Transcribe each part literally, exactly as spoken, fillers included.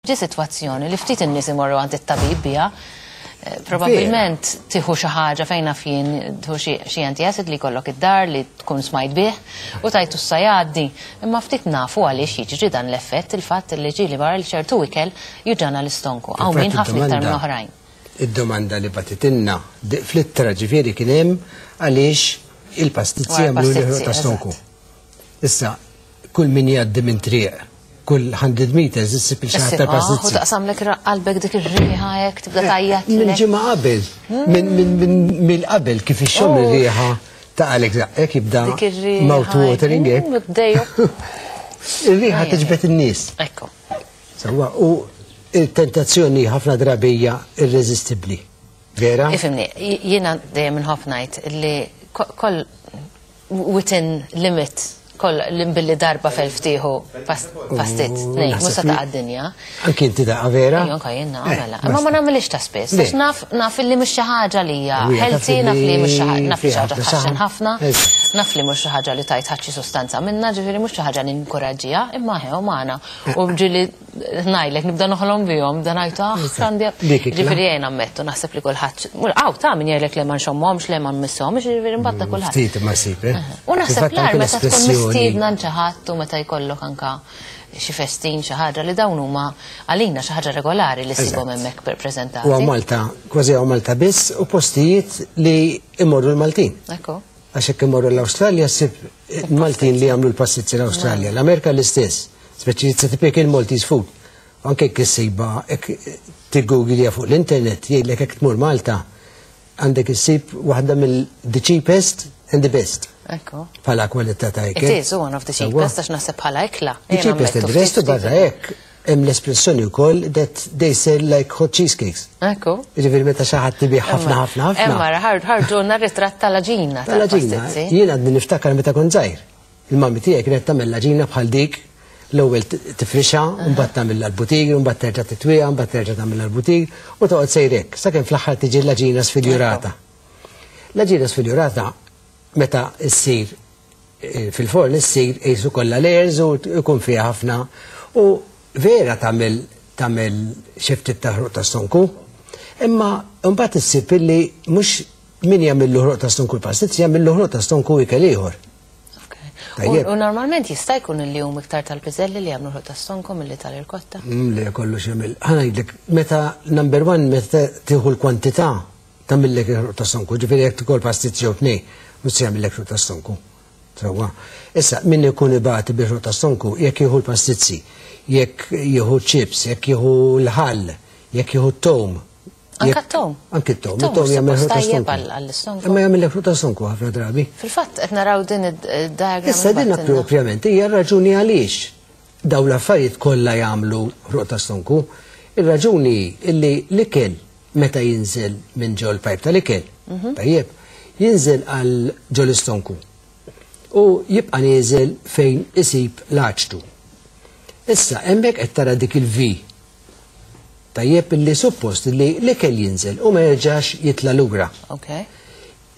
Ġi sitwazzjoni li ftit in-nies imorru għand it-tabib biha. Eh, Probabilment tieħu xi ħaġa fejn naf jien, tieħu xi- xi antiacid li jkollok id-dar li tkun smajt bih u tajtu issa jgħaddi. Imma ftit nafu għaliex jiġri dan l-effett, il-fatt li ġieli barra li ċertu ikel juġgħana l-istonku. Hawn min ħafna iktar minn oħrajn. Id-domanda li bagħtitilna fl-ittra ġifieri kien hemm għaliex il-pastizzi Wara jagħmlu l-pastizzi, l ta' stonku. Issa, kull min jgħaddi minn triq, kull mija meters issib il xi ħadd U tal-pastizzi. taqsamlek qalbek dik ir-riħa hekk, tibda tgħajjat. Minn ġimgħa qabel, minn minn minn mill qabel kif ixxomm Oh. ir-riħa ta' għalek hekk jibda Dik ir-riħa. mouth watering hekk. Bdeju. Ir-riħa tiġbed in-nies. Ekku. Sewwa, u il-tentazzjoni ħafna drabi hija irreżistibbli. Vera? Ifhimni, jiena dejjem inħobb ngħid li ko- koll within limit, koll billi darba f'elf tieħu pastizz, tnejn, mhux se taqa' d-dinja. Anki inti daqqa, vera? Ejja, anka jien Eh, nagħmela. Imma ma nagħmilix ta' spiss, Le. għax naf naf li mhux xi ħaġa li hija U hija taf healthy, naf li mhux xi ħaġa, naf li xi fiha ħaġa ħafna tħaxxen saħan. ħafna, Eżatt. naf li mhux xi ħaġa li tajt ħadd xi sustanza minna, ġifieri mhux xi ħaġa ninkoraġġiha, imma ħew magħna. U ġieli ngħidlek nibda noħlom bihom, da ngħid, "Ah, għandi." Dik ikla. Ġifieri jien ammettu, naħseb li kulħadd, għaw ta' min jgħidlek li ma nxommhomx, le ma nmisshomx, ġifieri mbagħad ta' kulħadd. Ftit ma ssib, eh? U naħseb Fil-fatt l anke meta tkun l-espressjoni- mistiedna ħadd u meta jkollok anka xi festin, xi ħaġa li dawn huma għalina xi ħaġa regolari li ssibhom hemmhekk preżentati. U Malta, kważi hawn Malta biss, u postijiet li imorru l-Maltin. Ekku. Għax jekk imorru l-Awstralja ssib Maltin li jagħmlu l-pastizzi l-Awstralja. L-Amerika l-istess, speċi it's a typical Maltese food. Anke jekk issibha, jekk tiggooglija fuq l-internet, jgħidlek jekk tmur Malta, għandek issib waħda mill-the cheapest and the best. Ekku. Bħala kwalità ta' ikel. It is one of the cheapest, għax naħseb bħala ikla. The Jien cheapest and ammettu the best, u ftit barra ftit. hekk hemm l-espressjoni wkoll that they sell like hot cheesecakes. Ekku. Jiġifieri meta xi ħadd tibih ħafna ħafna ħafna. Emma, ħarġuna ritratt tal-għaġina. Tal-għaġina, tal-pastizzi. jien għadni niftakar meta kont żgħir. Il-mami tiegħi kienet tagħmel l-għaġina bħal dik, l-ewwel tifrixha, mbagħad tagħmel l-butir, mbagħad terġa' titwiha, mbagħad terġa' tagħmel l-butir u toqgħod sejrek sakemm fl-aħħar tiġi l-għaġina sfiljurata. L-għaġina sfiljurata meta ssir eh, fil-forn issir qisu kollha layers u jkun fiha ħafna u vera tagħmel tagħmel xi ftit ta' ħruq ta' stonku. Imma mbagħad issib illi mhux min jagħmel ħruq ta' stonku l-pastizz, jagħmel ħruq ta' stonku ikel ieħor. U u normalment jista' jkun li hum iktar tal-piżelli li jagħmlu ħruq ta' stonku milli tal-irkotta. Mm, Le kollox jagħmel. Ħa ngħidlek, meta number one, meta tieħu l-kwantità tagħmillek il-ħruq ta' stonku, ġifieri jekk tikol pastizz jew tnejn, mhux se jagħmillek ħruq ta' stonku. Sewwa. Issa min ikun ibati bil-ħruq ta' stonku, jekk jieħu l-pastizzi, jekk jieħu chips, jekk jieħu l-ħall, jekk jieħu t-tom. Anka jekk- t-tom? Anki t-tom. It-tom It-tom jagħmel ħruq ta' suppost tajjeb stonku. għall- għall-istonku. Imma jagħmillek ħruq ta' stonku ħafna drabi. Fil-fatt qed naraw din id-diagram. Issa din propjament hija raġuni għaliex daw l-affarijiet kollha jagħmlu ħruq ta' stonku. Ir-raġuni illi l-ikel meta jinżel minn ġol pipe tal-ikel, tajjeb, jinżel għal ġol istonku u jibqa' nieżel fejn isib l-aċtu. Issa hemmhekk qed tara dik il-V. Tajjeb, illi suppost li l-ikel jinżel u ma jerġax jitla' lura. Ok.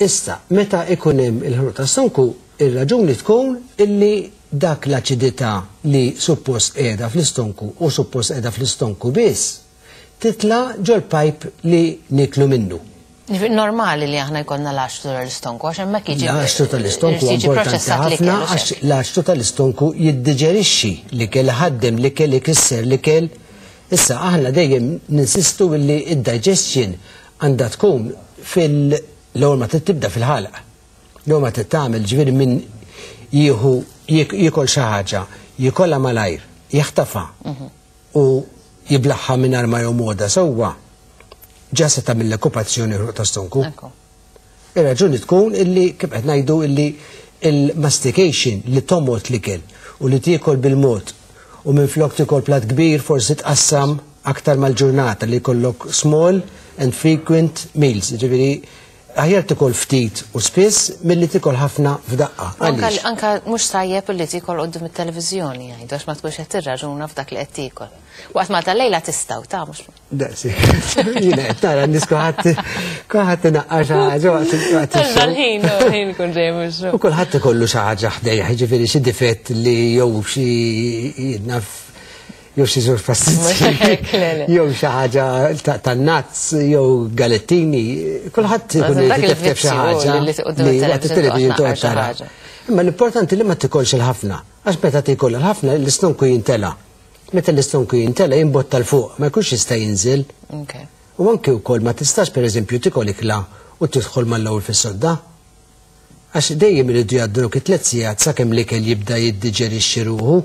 Issa, meta ikun hemm il-ħruq ta' stonku, ir-raġuni tkun illi dak l-aċidità li suppost qiegħda fl-istonku u suppost qiegħda fl-istonku biss, titla ġol pipe li niklu minnu. Ġifieri normali li aħna jkollna l-aċtu tal-istonku, għax hemmhekk jiġi L-aċtu tal-istonku jiġi importanti proċessat ħafna l-ikel u għax xek. l-aċtu tal-istonku jiddiġerixxi l-ikel, ħaddem l-ikel, ikisser l-ikel. Issa aħna dejjem ninsistu illi id-digestion għandha tkun fil- l-ewwel ma tibda fil-ħalq. L-ewwel ma tagħmel, ġifieri min jieħu jik- jiekol xi ħaġa, jikolha malajr, jaħtafa u jiblaħħa mingħajr ma jomgħodha sewwa, ġa se tagħmel l-okkupazzjoni ħruq ta' stonku. Ekku. Ir-raġuni tkun illi kif qed ngħidu illi il-mastication, li tomgħod l-ikel u li tiekol bil-mod u minn flok tiekol plat kbir forsi tqassam aktar mal-ġurnata, li jkollok small and frequent meals. Ġifieri aħjar tikol ftit u spiss milli tikol ħafna f'daqqa. Anka Għaliex? Anka mhux tajjeb li tiekol quddiem it-televiżjoni jgħidu, għax ma tkunx qed tirraġuna f'dak li qed tiekol. Waqt ma tal-lejla tistgħu ta' mhux. Daqsi. Jiena qed tara n-nies kulħadd kulħadd inaqqar xi ħaġa waqt waqt ix-xogħol. L-ħin, ħin kun ġej mhux. U kulħadd ikollu xi ħaġa ħdejja, jiġifieri xi difett li jew xi naf jew xi żewġ pastizzi, jew xi ħaġa tan-nazz, jew galettini, kulħadd ikun irid iteftek xi ħaġa li waqt it-television toqgħod tara. Imma l-importanti li ma tikolx il-ħafna, għax meta tikol il-ħafna l-istonku jintela. Meta l-istonku jintela jimbotta 'l fuq, ma jkunx jista' jinżel. U anke wkoll ma tistax pereżempju tikol ikla u tidħol mal-ewwel fis-sodda. Għax dejjem iridu jgħaddu dawk it-tliet sigħat sakemm l-ikel jibda jiddiġerixxi ruħu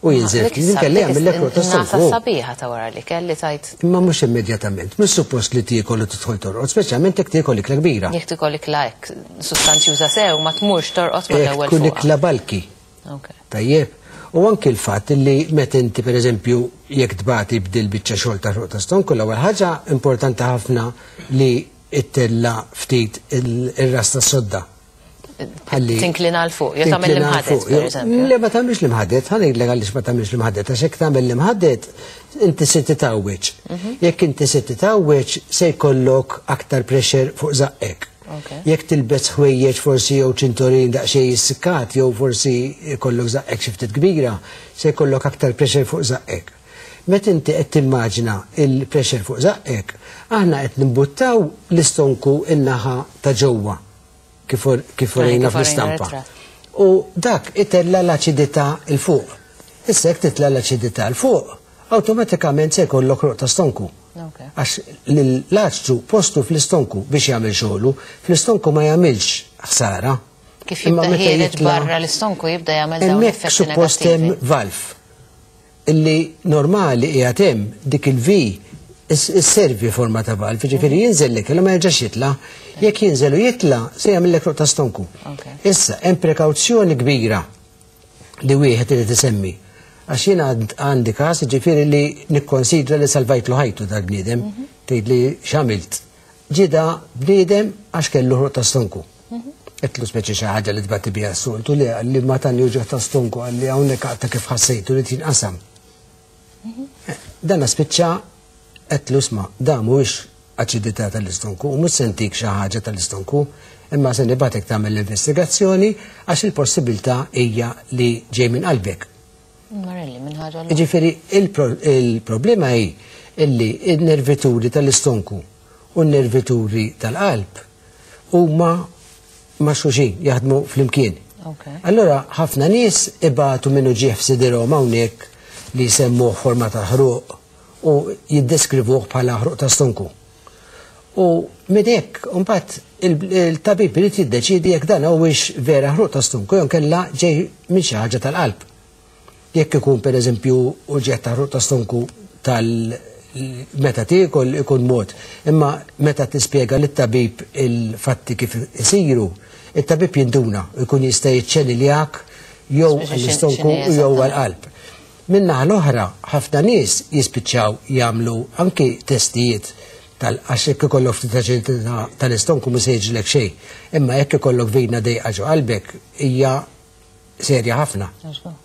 u jinżel ftit, inkella jagħmillek rotta stonku. Sabiħa ta' wara l-ikel li tajt. Imma mhux immedjatament, mhux suppost li tiekol u tidħol torqod, speċjalment jekk tiekol ikla kbira. Jekk tiekol ikla hekk sustanzjuża sew ma tmurx torqod mal-ewwel. Tkun ikla balki. Tajjeb. U anki l-fatt li meta inti pereżempju jekk tbati b'dil biċċa xogħol ta' rotta stonku, l-ewwel ħaġa importanti ħafna li ttella ftit ir-ras tas-sodda. Tinklina 'l fuq, jew tagħmel l-imħadet pereżempju. Le, ma tagħmilx l-imħadet, ħa ngħidlek għaliex ma tagħmilx l-imħadet, għax jekk tagħmel l-imħadet inti se titgħawweġ. Jekk inti se titgħawweġ se jkollok aktar pressure fuq żaqqek. Jekk tilbes ħwejjeġ forsi jew ċintorin daqsxejn jissikkat jew forsi jkollok żaqqek xi ftit kbira, se jkollok aktar pressure fuq żaqqek. Meta inti qed timmaġina il-pressure fuq żaqqek, aħna qed nimbuttaw l-istonku in-naħa ta' ġewwa kif urejna fl-istampa. U dak itella l-aċidità 'l fuq. Issa jekk titla' l-aċidità 'l fuq, awtomatikament se jkollok roqta stonku. Għax l-aċtu postu fl-istonku biex jagħmel xogħlu, fl-istonku ma jagħmilx ħsara. Kif jibda ħiereġ barra l-istonku jibda jagħmel dawn l-effetti negattivi. Hemmhekk suppost hemm valv illi normali qiegħed hemm dik il-V isservi forma ta' valv, jiġifieri jinżel l-ikel ma jerġax jitla', jekk jinżel u jitla' se jagħmellek roqta stonku. Issa hemm prekawzjoni kbira li wieħed irid isemmi. Għax jiena għandi każ jiġifieri li nikkonsidra li salvajtlu ħajtu dal-bniedem, tgħid li x'għamilt. Ġieda bniedem għax kellu ħruq ta' stonku. Qedtlu speċi xi ħaġa li tbati biha s-soltu li qalli ma tani uġigħ ta' stonku qalli hawnhekk għadta kif ħassejtu li tinqasam. Dan spiċċa qedtlu isma' da mhuwiex aċidità tal-istonku u mhux se ntik xi ħaġa tal-istonku, imma se nibgħatek tagħmel l-investigazzjoni għax il-possibilità hija li ġej minn qalbek. Marelli, minn ħaġa l. Jiġifieri il-problema hi illi n-nervituri tal-istonku u n-nervituri tal-qalb huma ma' xulxin jaħdmu flimkien. Allora ħafna nies ibatu minn uġigħ f'sidirhom hawnhekk li jsemmuh forma ta' ħruq u jiddeskrivuh bħala ħruq ta' stonku. U minn hekk imbagħad il-tabib irid jiddeċiedi jekk dan huwiex vera ħruq ta' stonku jew inkella ġej minn xi ħaġa tal-qalb. Jekk ikun pereżempju uġigħ ta' ħruq ta' stonku tal meta tiekol ikun mod, imma meta tispjega lit-tabib il-fatti kif isiru, it-tabib jinduna jkun jista' jiċċeniljak jew għall-istonku jew għall-qalb. Min-naħa l-oħra, ħafna nies jispiċċaw jagħmlu anki testijiet tal għax jekk ikollok ftit aċidità tal-istonku mhux se jiġrilek xejn, imma jekk ikollok vina dejqa ġo qalbek hija serja ħafna.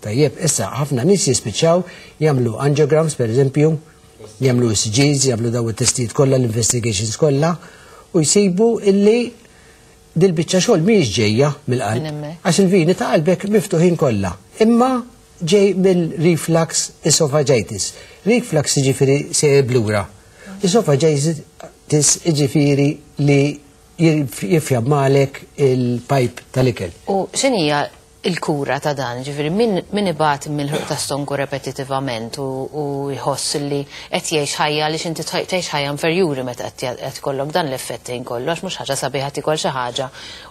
Tajjeb, issa ħafna nies jispiċċaw jagħmlu angiograms pereżempju, jagħmlu E C Gs, jagħmlu daw it-testijiet kollha, l-investigations kollha, u jsibu illi dil-biċċa xogħol mhijiex ġejja mill-qalb, għax il-vini ta' qalbek miftuħin kollha. Imma ġej mill-reflux esophagitis. Reflux jiġifieri se blura. Esophagitis jiġifieri li jifjammalek il-pajp tal-ikel. U x'inhija il-kura ta' dan? Ġifieri min ibati mill-ħruq ta' stonku repetitivament u jħoss li qed jgħix ħajja għaliex inti tgħix ħajja inferjuri meta qed ikollok dan l-effett kollu għax mhux ħaġa sabiħa tikol xi ħaġa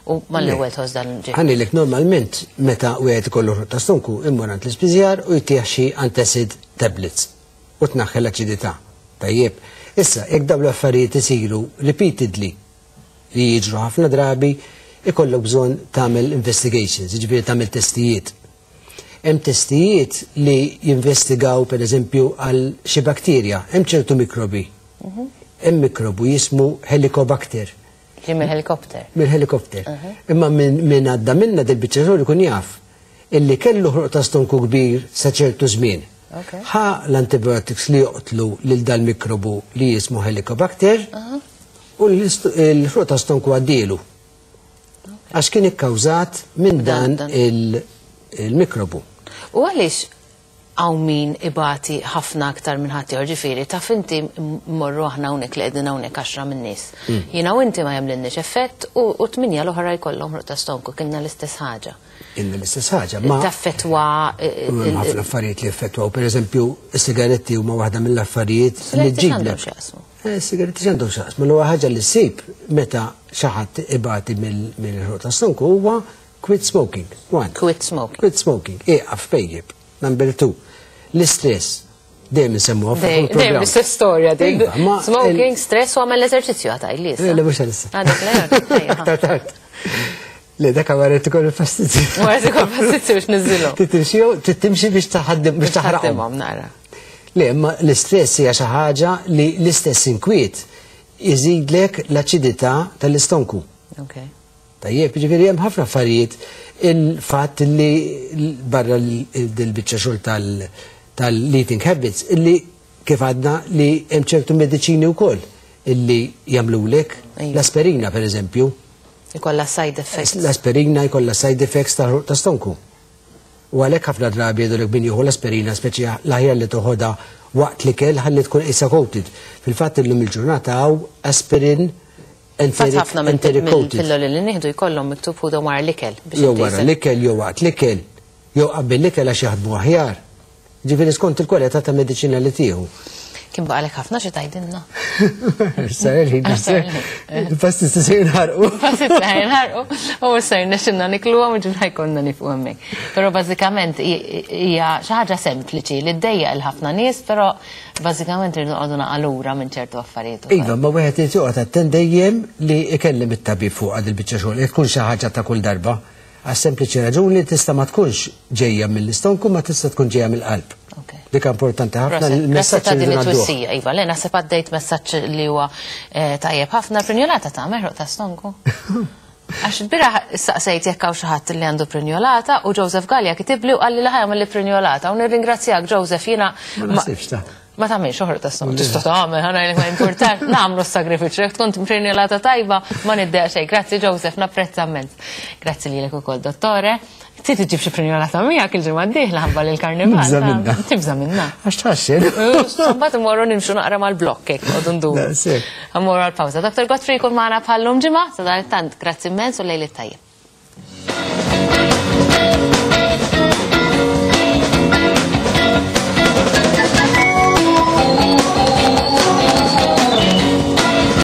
u mal-ewwel tħoss dan ġifieri. Ħanilek normalment meta wieħed ikollu ħruq ta' stonku immur għand l-ispiżjar u jtih xi antacid tablets u tnaħħi l-aċidità. Tajjeb, issa jekk dawn l-affarijiet isiru repeatedly li jiġru ħafna drabi, ikollok bżonn tagħmel investigations, jiġifieri tagħmel testijiet. Hemm testijiet li jinvestigaw pereżempju għal xi bakterja, hemm ċertu mikrobi. Hemm mikrobu jismu Helicobacter. Ġie mill-helikopter. Mill-helikopter. Imma min għadda minna dil-biċċa xogħol ikun jaf illi kellu ħruq ta' stonku kbir sa ċertu żmien. Ħa l-antibiotics li joqtlu lil dal-mikrobu li jismu Helicobacter u l-ħruq ta' stonku għaddielu. Għax kien ikkawżat minn dan il-mikrobu. U għaliex Hawn min ibati ħafna aktar minn ħadd ieħor, ġifieri taf inti mmorru aħna hawnhekk li qegħdin hawnhekk għaxra min-nies. Jiena u inti ma jagħmlilniex effett u u tminja l-oħra jkollhom ħruq ta' stonku, kienna l-istess ħaġa. Inna l-istess ħaġa, ma Taffettwa eh, hemm ħafna affarijiet li effettwaw. Per eżempju, is-sigaretti huma waħda mill-affarijiet li Sigaretti x'għandhom ġiblek. x'jaqsmu? Eh, Sigaretti x'għandhom x'jaqsmu? L-ewwel ħaġa li ssib meta xi ħadd ibati mill-ħruq ta' stonku huwa quit smoking. One. Quit smoking. Quit smoking. Ieqaf pejjep. Number two. L-istress. Dejjem insemmuha fuq Dejjem il-programm. l-istess storja din. Iva, ma Smoking, stress u għamel l-eżerċizzju għataj li Le, le, mhux għalissa. Għadek le, ejja. Aktar tard. Le, dak għaret ikun il-fastizzi. Wara ikun fastizzi biex niżilhom. Titimxi titimxi biex taħaddem biex taħraqhom. Taħdimhom nara. Le, imma l-istress hija xi ħaġa li l-istess inkwiet iżidlek l-aċidità tal-istonku. Ok. Tajjeb, ġifieri hemm ħafna affarijiet il-fatt li barra l-biċċa xogħol tal- tal-eating habits illi kif għadna li hemm ċertu mediċini wkoll illi jagħmlulek Ejja. l-aspirina per eżempju. Ikolla side effects. L-aspirina jkollha side effects ta' ta' stonku. U għalhekk ħafna drabi jgħidulek min jieħu l-aspirina speċi l-aħjar li toħodha waqt l-ikel ħalli tkun issa coated. Fil-fatt illum il-ġurnata hawn aspirin Fatt ħafna minn enteric coated. pilloli li nieħdu jkollhom miktub ħudu wara l-ikel. biex Jew inti wara se- l-ikel, jew waqt l-ikel, jew qabel l-ikel għax jaħdmu aħjar. Ġifieri skont il-kwalità ta' mediċina li tieħu. Kien baqalek ħafna xi tgħidilna. Sar il-ħin, Sar il-ħin. Il-pastizzi se jinħarqu. Pastizzi ħa jinħarqu u ser nexxinna nikluhom u ġibna jkollna nifqu hemmhekk. Però bażikament hija xi ħaġa sempliċi li ddejjaq il ħafna nies, però bażikament irridu noqogħdu naqalura minn ċertu affarijiet. ukoll. Iva, ma wieħed irid joqgħod attent dejjem li ikellem it-tabib fuq għad il-biċċa xogħol, jekk tkun xi ħaġa ta' kull darba. Għas sempliċi raġuni tista' ma tkunx ġejja mill-istonku ma tista' tkun ġejja mill-qalb. Ok. Dik importanti ħafna Proset, il-messaġġ ta' li din ngħadduh. it-twissija, Iva, le naħseb għaddejt messaġġ li huwa eh, tajjeb ħafna prinjolata ta' ħruq ta' stonku. Għax il-bieraħ saqsejt jekk hawn xi ħadd li għandu prinjolata u Joseph Gallia kitibli u qalli li ħa jagħmel li prinjolata u nirringrazzjak Joseph jiena Ma naħsibx ta' Ma tagħmilx ħruq ta' stonku, tista' tagħmel, ħa ngħidlek ma importax, nagħmlu s-sagrifiċċju, jekk tkun prinjolata tajba ma niddejjaq xejn. Grazzi Joseph, napprezza immens. Grazzi lilek ukoll, dottore. Trid iġib xi prinjolata miegħek il-ġimgħa d-dieħla ħabba lill-karnival. Nibża' minna. Tibża' minna. Għax tħaxxen. Mbagħad imorru nimxu naqra mal-blokk hekk noqogħdu nduru. Daqshekk. Mmorru għall-pawża. Dr. Godfrey jkun magħna bħallum ġimgħa, sadanittant grazzi immens u lejl it-tajjeb.